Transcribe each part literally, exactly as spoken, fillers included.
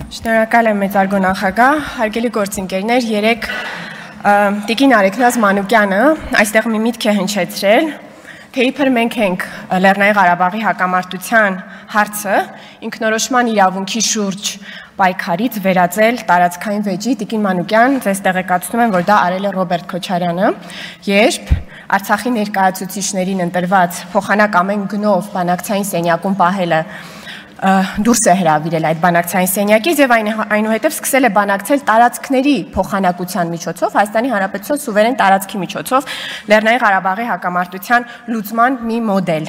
Շնորհակալ եմ մեծարգո նախագահ, հարգելի գործընկերներ, երեք Տիկին Արեգնազ Մանուկյանը այստեղ մի միտք է հնչեցրել, թե իբր մենք ենք Լեռնային Ղարաբաղի հակամարտության հարցը ինքնորոշման իրավունքի շուրջ պայքարից վերածել տարածքային վեճի։ Տիկին Մանուկյան, ձեզ տեղեկացնում եմ, որ դա արել է Ռոբերտ Քոչարյանը, երբ Արցախի ներկայացուցիչներին ընտրված փոխանակ ամեն գնով բանակցային սենյակում պահելը դուրս է հրավիրել այդ բանակցային սենյակից եւ այնուհետեւ սկսել է բանակցել տարածքների փոխանակության միջոցով Հայաստանի Հանրապետության սուվերեն տարածքի միջոցով Լեռնային Ղարաբաղի հակամարտության լուծման մի մոդել։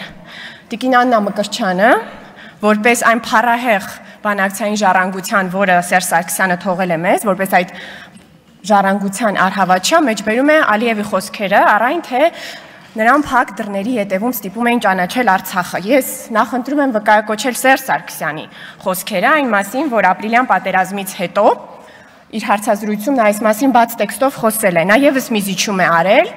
Տիկին Աննա Մկրտչյանը, որպես այն փառահեղ բանակցային ժառանգության, որը Սերժ Սարգսյանը թողել է մեզ, որպես այդ ժառանգության արհավաչյա, մեջբերում է Ալիևի խոսքերը, առայն թե նրան փակ դռների հետևում ստիպում էին ճանաչել Արցախը։ Ես նախընտրում եմ վկայակոչել Սերժ Սարգսյանի խոսքերը այն մասին, որ ապրիլյան պատերազմից հետո իր հարցազրույցում նա այս մասին բաց տեքստով խոսել է։ Նա ևս մի զիջում է արել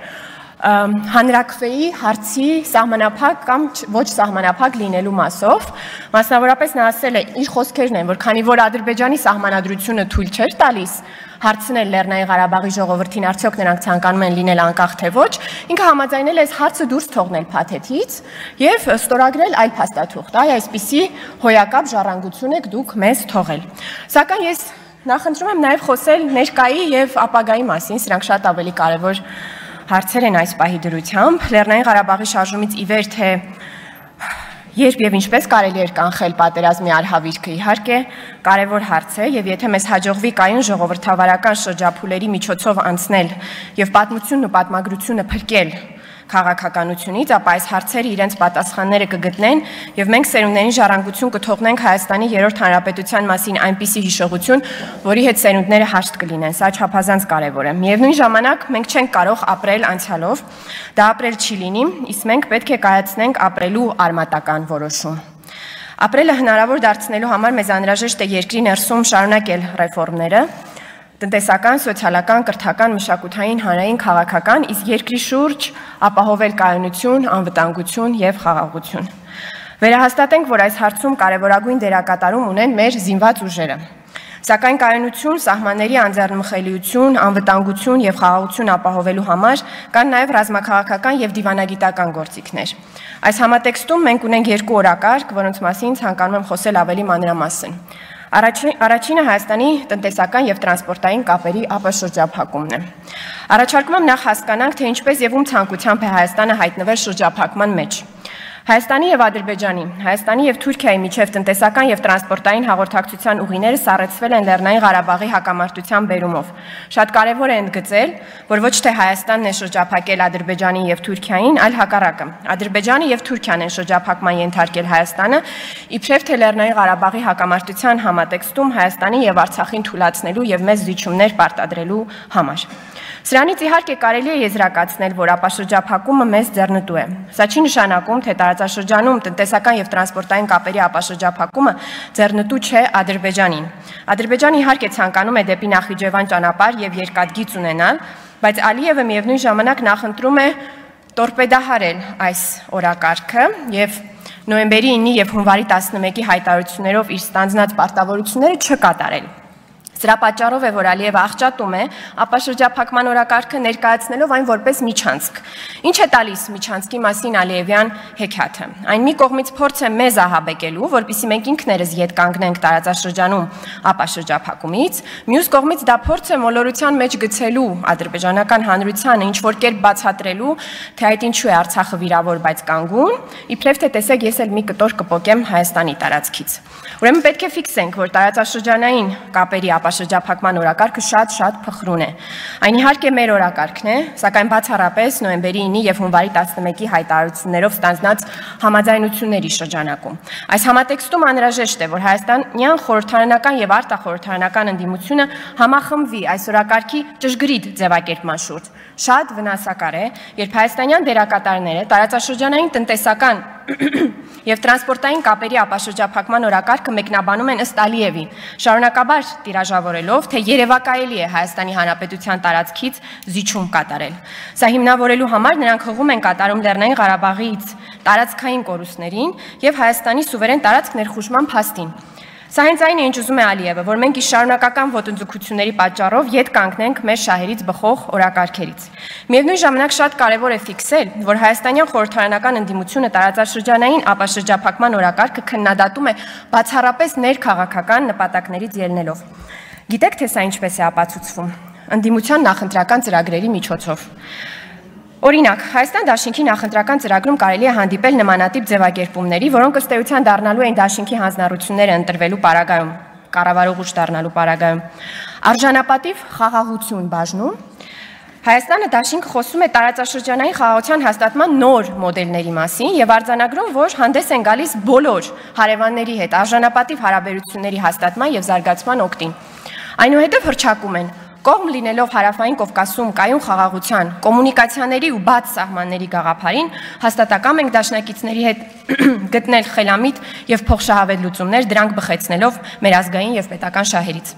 հանրաքվեի հարցի սահմանափակ կամ ոչ սահմանափակ լինելու մասով, մասնավորապես նա ասել է, իր խոսքերն են, որ քանի որ Ադրբեջանի սահմանադրությունը թույլ չէր տալիս հարցնել Լեռնային Ղարաբաղի ժողովրդին, արդյոք նրանք ցանկանում են լինել անկախ թե ոչ, ինքը համաձայնել է այս հարցը դուրս թողնել փաթեթից եւ ստորագրել այլ փաստաթուղթ։ Այ այսպիսի հոյակապ ժառանգություն եք դուք մեզ թողել։ Սակայն ես նախընտրում եմ նաեւ խոսել ներկայի եւ ապագայի մասին, սրանք շատ ավելի կարեւոր հարցեր են այս պահի դրությամբ։ Լեռնային Ղարաբաղի շարժումից ի վեր թե երբ եւ ինչպես կարելի էր կանխել պատերազմի արհավիրքը, իհարկե կարևոր հարց է եւ եթե մեզ հաջողվի կայուն ժողովրդավարական շրջափուլերի միջոցով անցնել եւ պատմությունն ու պատմագրությունը փրկել քաղաքականությունից, ապա այս հարցերը իրենց պատասխանները կգտնեն եւ մենք սերունդների ժառանգություն կթողնենք Հայաստանի երրորդ հանրապետության մասին այնպիսի հիշողություն, որի հետ սերունդները հաշտ կլինեն։ Սա չափազանց կարևոր է։ Միևնույն ժամանակ մենք չենք կարող ապրել անցյալով, դա ապրել չի լինի, իսկ մենք պետք է կայացնենք ապրելու արմատական որոշում։ Ապրելը հնարավոր դարձնելու համար մեզ անհրաժեշտ է երկրի ներսում շարունակել ռեֆորմները, տնտեսական, սոցիալական, կրթական, մշակութային, հանրային, քաղաքական, իսկ երկրի շուրջ ապահովել կայունություն, անվտանգություն եւ խաղաղություն։ Վերահաստատենք, որ այս հարցում կարևորագույն դերակատարում ունեն մեր զինված ուժերը։ Սակայն կայունություն, սահմանների անձեռնմխելիություն, անվտանգություն եւ խաղաղություն ապահովելու համար կան նաեւ ռազմաքաղաքական եւ դիվանագիտական գործիքներ։ Այս համատեքստում մենք ունենք երկու օրակարգ, որոնց մասին ցանկանում եմ խոսել ավելի մանրամասն։ Առաջինը Հայաստանի տնտեսական եւ տրանսպորտային կապերի ապաշրջափակումն է։ Առաջարկում եմ նախ հասկանանք, թե ինչպես եւ ում ցանկությամբ է Հայաստանը հայտնվել շրջափակման մեջ։ Հայաստանի եւ Ադրբեջանի, Հայաստանի եւ Թուրքիայի միջև տնտեսական եւ տրանսպորտային հաղորդակցության ուղիները սառեցվել են Լեռնային Ղարաբաղի հակամարտության բերումով։ Շատ կարեւոր է ընդգծել, որ ոչ թե Հայաստանն է շրջափակել Ադրբեջանին եւ Թուրքիային, այլ հակառակը։ Ադրբեջանը եւ Թուրքիան են շրջափակման ենթարկել Հայաստանը, իբրև թե Լեռնային Ղարաբաղի հակամարտության համատեքստում Հայաստանի եւ Արցախին թույլատնելու եւ մեծ զիջումներ պարտադրելու համար։ Սրանից իհարկե կարելի է եզրակացնել, որ ապաշրջափակումը մեզ ձեռնտու է։ Սա չի նշանակում, թե տարածաշրջանում տնտեսական եւ տրանսպորտային կապերի ապաշրջափակումը ձեռնտու չէ Ադրբեջանին։ Ադրբեջանը իհարկե ցանկանում է դեպի Նախիջևան ճանապարհ եւ երկաթգիծ ունենալ, բայց Ալիևը միևնույն ժամանակ նախընտրում է տորպեդահարել այս օրակարգը եւ նոյեմբերի ինը եւ հունվարի տասնմեկի հայտարարություններով իր ստանձնած պարտավորությունները չկատարել։ Սրա պատճառով է, որ Ալիևը աղճատում է ապաշրջափակման օրակարգը ներկայացնելով այն որպես միջանցք։ Ինչ է տալիս միջանցքի մասին Ալիևյան հեքիաթը։ Այն մի կողմից փորձ է մեզ ահաբեկելու, որպեսզի մենք ինքներս ետ կանգնենք տարածաշրջանում ապաշրջափակումից, մյուս կողմից դա փորձ է մոլորության մեջ գցելու ադրբեջանական հանրությանը, ինչ որ կերպ բացատրելու, թե այդ ինչու է Արցախը վիրավոր, բայց կանգուն, իբրև թե տեսեք, ես էլ մի կտոր կպոկեմ Հայաստանի տարածքից։ Ուրեմն պետք է ֆիքսենք, որ տարածաշրջանային կապերի ապաշրջափակման օրակարգը շատ-շատ փխրուն է։ Այն իհարկե մեր օրակարգն է, սակայն բացառապես նոյեմբերի ինը եւ հունվարի տասնմեկի հայտարարություններով ստանձնած համաձայնությունների շրջանակում։ Այս համատեքստում անհրաժեշտ է, որ հայաստանյան խորհրդարանական եւ արտախորհրդարանական ընդդիմությունը համախմբվի այս օրակարգի ճշգրիտ ձևակերպման շուրջ։ Շատ վնասակար է, երբ հայաստանյան դերակատարները տարածաշրջանային տնտեսական եւ տրանսպորտային կապերի ապաշրջափակման օրակարգը մեկնաբանում են ըստ Ալիևի, շարունակաբար տիրաժավորելով, թե երևակայելի է Հայաստանի Հանրապետության տարածքից զիջում կատարել։ Սա հիմնավորելու համար նրանք հղում են կատարում Լեռնային Ղարաբաղից տարածքային կորուստներին եւ Հայաստանի սուվերեն տարածք ներխուժման փաստին։ Սա հենց այն է, ինչ ուզում է Ալիևը, որ մենք շարունակական ոտնձգությունների պատճառով ետ կանգնենք մեր շահերից բխող օրակարգերից։ Միևնույն ժամանակ շատ կարևոր է ֆիքսել, որ հայաստանյան խորհրդարանական ընդդիմությունը տարածաշրջանային ապաշրջափակման օրակարգը քննադատում է բացառապես ներքաղաքական նպատակներից ելնելով։ Գիտեք, թե սա ինչպես է ապացուցվում։ Ընդդիմության նախընտրական ծրագրերի միջոցով։ Օրինակ, Հայաստան դաշինքի նախընտրական ծրագրում կարելի է հանդիպել նմանատիպ ձևակերպումների, որոնք ըստ էության դառնալու են դաշինքի հանձնառությունները ընտրվելու պարագայում, կառավարող ուժ դառնալու պարագայում։ Արժանապատիվ խաղաղություն բաժնում Հայաստանը դաշինք խոսում է տարածաշրջանային խաղաղության հաստատման նոր մոդելների մասին եւ արձանագրում, որ հանդես են գալիս բոլոր հարևանների հետ արժանապատիվ հարաբերությունների հաստատման եւ զարգացման օգտին։ Այնուհետև հռչակում են Կողմ լինելով Հարավային Կովկասում կայուն խաղաղության, կոմունիկացիաների ու բաց սահմանների գաղափարին, հաստատակամ ենք դաշնակիցների հետ գտնել խելամիտ եւ փոխշահավետ լուծումներ, դրանք բխեցնելով մեր ազգային եւ պետական շահերից։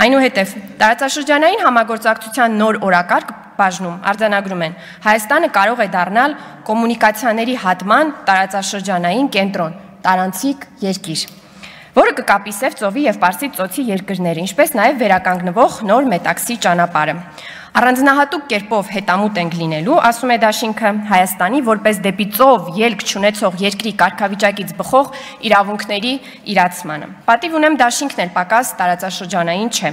Այնուհետև տարածաշրջանային համագործակցության նոր օրակարգ բաժնում արձանագրում են Հայաստանը կարող է դառնալ կոմունիկացիաների հատման տարածաշրջանային կենտրոն, տարանցիկ երկիր, որը կկապի Սև ծովի եւ Պարսից ծոցի երկրներ, ինչպես նաեւ վերականգնվող նոր մետաքսի ճանապարհը։ Առանձնահատուկ կերպով հետամուտ ենք լինելու, ասում է դաշինքը, Հայաստանի որպես դեպի ծով ելք չունեցող երկրի կարգավիճակից բխող իրավունքների իրացմանը։ Պատիվ ունեմ դաշինքն էլ պակաս տարածաշրջանային չէ։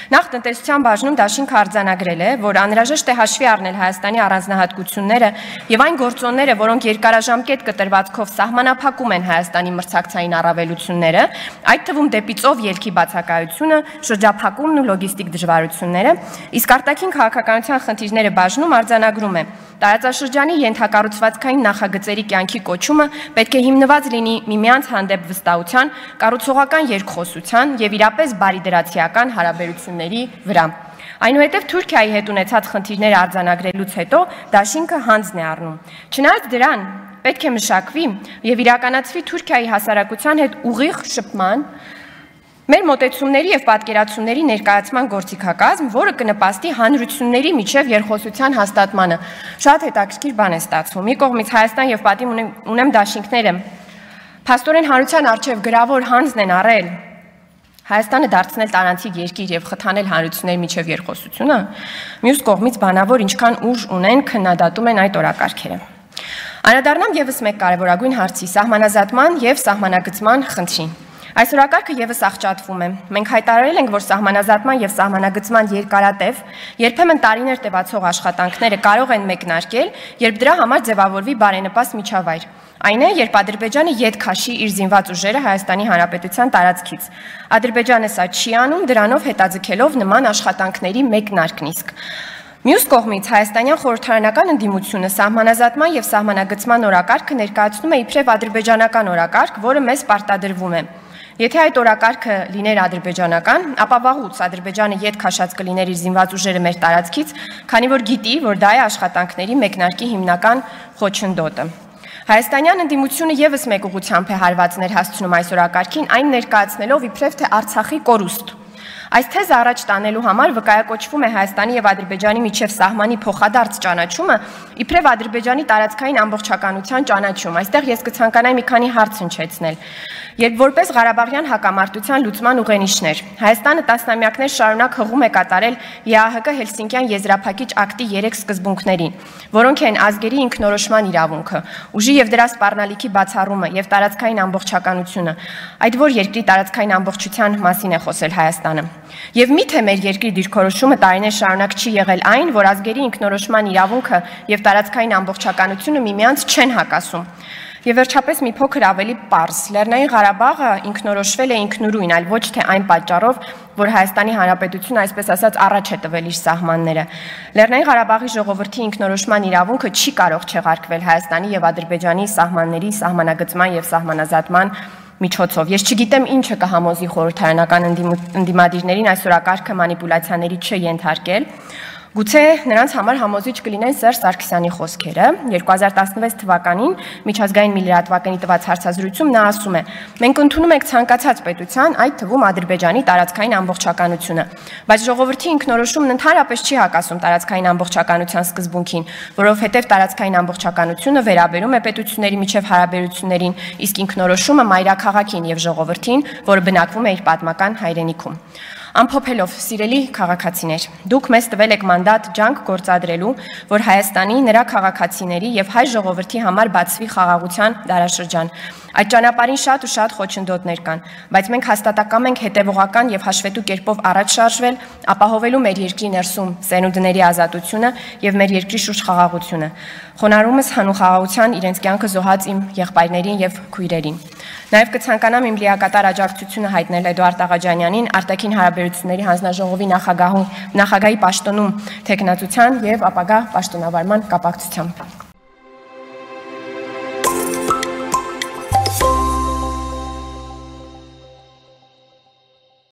Նախ տնտեսության բաժնում դաշինքը արձանագրել է, որ անհրաժեշտ է հաշվի առնել Հայաստանի առանձնահատկությունները եւ այն գործոնները, որոնք երկարաժամկետ կտրվածքով սահմանափակում են Հայաստանի մրցակցային առավելությունները, այդ թվում դեպի ծով ելքի բացակայությունը, շրջափակումն ու լոգիստիկ դժվարությունները, իսկ արտաքին քաղաքականության խնդիրները բաժնում արձանագրում է տարածաշրջանի ենթակառուցվածքային նախագծերի կյանքի կոչումը պետք է հիմնված լինի միմյանց հանդեպ վստահության, կառուցողական երկխոսության եւ իրապես բարիդրացիական հարաբերությունների վրա։ Այնուհետև Թուրքիայի հետ ունեցած խնդիրները արձանագրելուց հետո դաշինքը հանձն է առնում։ Չնայած դրան պետք է մշակվի եւ իրականացվի Թուրքիայի հասարակության հետ ուղիղ շփման մեր մոտեցումների եւ պատկերացումների ներկայացման գործիքակազմ, որը կնպաստի հանրությունների միջև երկխոսության հաստատմանը։ Շատ հետաքրքիր բան է ստացվում։ Մի կողմից Հայաստան եւ պատիվ ունեմ, ունեմ դաշինքները փաստորեն հանրության արչեւ գրավոր հանձն են առել Հայաստանը դարձնել տարանցիկ երկիր եւ խթանել հանրությունների միջև երկխոսությունը, մյուս կողմից բանավոր ինչքան ուժ ունեն քննադատում են այդ օրակարգերը։ Անդրադառնամ եւս մեկ կարևորագույն հարցի՝ սահմանազատման եւ սահմանագծման խնդրին։ Այս օրակարգը եւս աղճատվում է։ Մենք հայտարարել ենք, որ սահմանազատման եւ սահմանագծման երկարատև, երբեմն տարիներ տևացող աշխատանքները կարող են մեկնարկել, երբ դրա համար ձևավորվի բարենպաստ միջավայր։ Այն է, երբ Ադրբեջանը ետ քաշի իր զինված ուժերը Հայաստանի Հանրապետության տարածքից։ Ադրբեջանը սա չի անում, դրանով հետաձգելով նման աշխատանքների մեկնարկն իսկ։ Մյուս կողմից հայաստանյան խորհրդարանական ընդդիմությունը սահմանազատման եւ սահմանագծման օրակարգը ներկայացնում է իբրև ադրբեջանական օրակարգ, որը մեզ պարտադրվում է։ Եթե այդ օրակարգը լիներ ադրբեջանական, ապա վաղուց Ադրբեջանը ետ քաշած կլիներ իր զինված ուժերը մեր տարածքից, քանի որ գիտի, որ դա է աշխատանքների մեկնարկի հիմնական խոչընդոտը։ Հայաստանյան ընդդիմությունը եւս մեկ ուղղությամբ է հարվածներ հասցնում այս օրակարգին, այն ներկայացնելով իբրև թե Արցախի կորուստ։ Այս թեզը առաջ տանելու համար վկայակոչվում է Հայաստանի եւ Ադրբեջանի միջև սահմանի փոխադարձ ճանաչումը, իբրև Ադրբեջանի տարածքային ամբողջականության ճանաչում։ Այստեղ ես կցանկանայի մի քանի հարց հնչեցնել։ Երբ որպես Ղարաբաղյան հակամարտության լուծման ուղենիշներ Հայաստանը տասնամյակներ շարունակ հղում է կատարել ԵԱՀԿ Հելսինկյան եզրափակիչ ակտի երեք սկզբունքներին, որոնք են ազգերի ինքնորոշման իրավունքը, ուժի եւ դրա սպառնալիքի բացառումը եւ տարածքային ամբողջականությունը, այդ որ երկրի տարածքային ամբողջության մասին է խոսել Հայաստանը։ Եվ միթե մեր երկրի դիրքորոշումը տարիներ շարունակ չի եղել այն, որ ազգերի ինքնորոշման իրավունքը եւ տարածքային ամբողջականությունը միմյանց չեն հակասում։ Եվ վերջապես մի փոքր ավելի պարզ, Լեռնային Ղարաբաղը ինքնորոշվել է ինքնուրույն, այլ ոչ թե այն պատճառով, որ Հայաստանի Հանրապետությունը, այսպես ասած, առաջ է տվել իր սահմանները։ Լեռնային Ղարաբաղի ժողովրդի ինքնորոշման իրավունքը չի կարող չեղարկվել Հայաստանի եւ Ադրբեջանի սահմանների սահմանագծման եւ սահմանազատման միջոցով։ Ես չգիտեմ ինչը կհամոզի խորհրդարանական ընդդիմադիրներին այս օրակարգը մանիպուլյացիաների չենթարկել։ Գուցե նրանց համար համոզիչ կլինեն Սերժ Սարգսյանի խոսքերը։ երկու հազար տասնվեց թվականին միջազգային միլիարդվականի տված հարցազրույցում նա ասում է. «Մենք ընդունում ենք ցանկացած պետության, այդ թվում Ադրբեջանի տարածքային ամբողջականությունը, բայց ժողովրդի ինքնորոշումն ընդհանրապես չի հակասում տարածքային ամբողջականության սկզբունքին, որովհետև տարածքային ամբողջականությունը վերաբերում է պետությունների միջև հարաբերություններին, իսկ ինքնորոշումը մայրաքաղաքին եւ ժողովրդին, որը բնակվում է իր պատմական հայրենիքում»։ Ամփոփելով, սիրելի քաղաքացիներ, դուք մեզ տվել եք մանդատ ջանք գործադրելու, որ Հայաստանի, նրա քաղաքացիների եւ հայ ժողովրդի համար բացվի խաղաղության դարաշրջան։ Այդ ճանապարհին շատ ու շատ խոչընդոտներ կան, բայց մենք հաստատակամ ենք հետևողական եւ հաշվետու կերպով առաջ շարժվել, ապահովելու մեր երկրի ներսում սերունդների ազատությունը եւ մեր երկրի շուրջ խաղաղությունը։ Խոնարհումս հանուն խաղաղության իրենց կյանքը զոհած իմ եղբայրներին եւ քույրերին։ Նաև կցանկանամ իմ լիակատար աջակցությունը հայտնել Էդուարդ Աղաջանյանին արտաքին հարաբերությունների հանձնաժողովի նախագահի պաշտոնում թեկնածության եւ ապագա պաշտոնավարման կապակցությամբ։